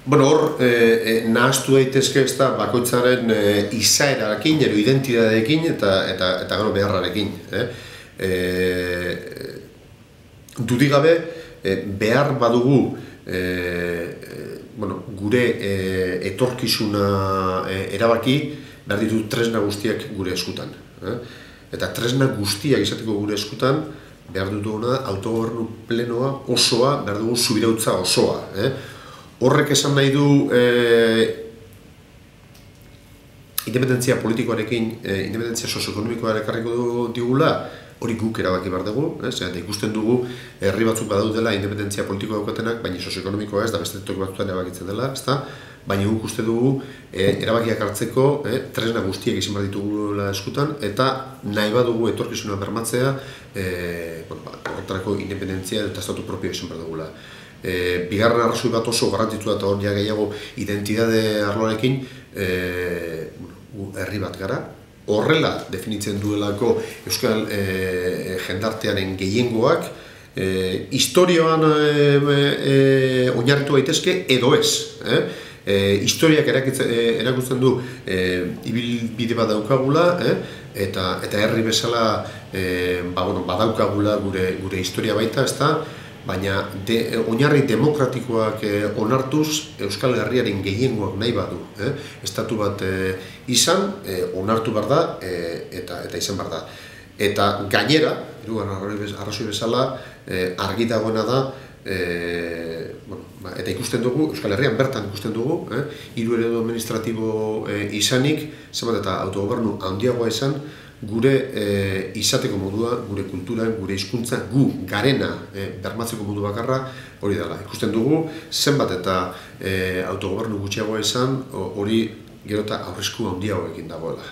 Bueno, hor, nahaztu daitezke ez da bakoitzaren izaerarekin, edo identidadeekin eta gero beharrarekin. Dudik gabe, behar badugu gure etorkizuna erabaki, behar ditu tresna guztiak gure eskutan. Eta tresna guztiak izateko gure eskutan, behar dutuguna autogobernu plenoa osoa, behar dugu subirautza osoa. Horrek esan nahi du independentzia politikoarekin, independentzia sozioekonomikoa ekarriko digula, hori guk erabaki behar dugu, eta ikusten dugu herri batzuk badaudela independentzia politikoa daukatenak, baina sozioekonomikoa ez da beste toki batzuetan erabakitzen dela, baina guk uste dugu erabakiak hartzeko tresna guztiak izan behar ditugula eskutan, eta nahi badugu etorkizuna bermatzea, horretarako independentzia eta estatu propio izan behar dugula. Bigarren arrazoi bat oso garrantzitsua eta hor gehiago identitate arloarekin herri bat gara. Horrela definitzen duelako euskal jendartearen gehiengoak historioan oinarritu daitezke edo ez. Historiak erakusten du ibilbide bat daukagula eta herri bezala badaukagula gure historia baita, ezta? Baina oinarri demokratikoak onartuz Euskal Herriaren gehiengoak nahi badu. Estatu bat izan, onartu behar da eta izan behar da. Eta gainera, arrazoi bezala, argi dagoena da, eta ikusten dugu, Euskal Herrian bertan ikusten dugu, hiru eredu administratibo izanik, zenbat eta autogobernu handiagoa izan, gure izateko modua, gure kultura, gure hizkuntza, gu garena bermatzeko modu bakarra hori dela. Ikusten dugu, zenbat eta autogobernu gutxiagoa izan, hori gero eta aurresku handiagoekin dagoela.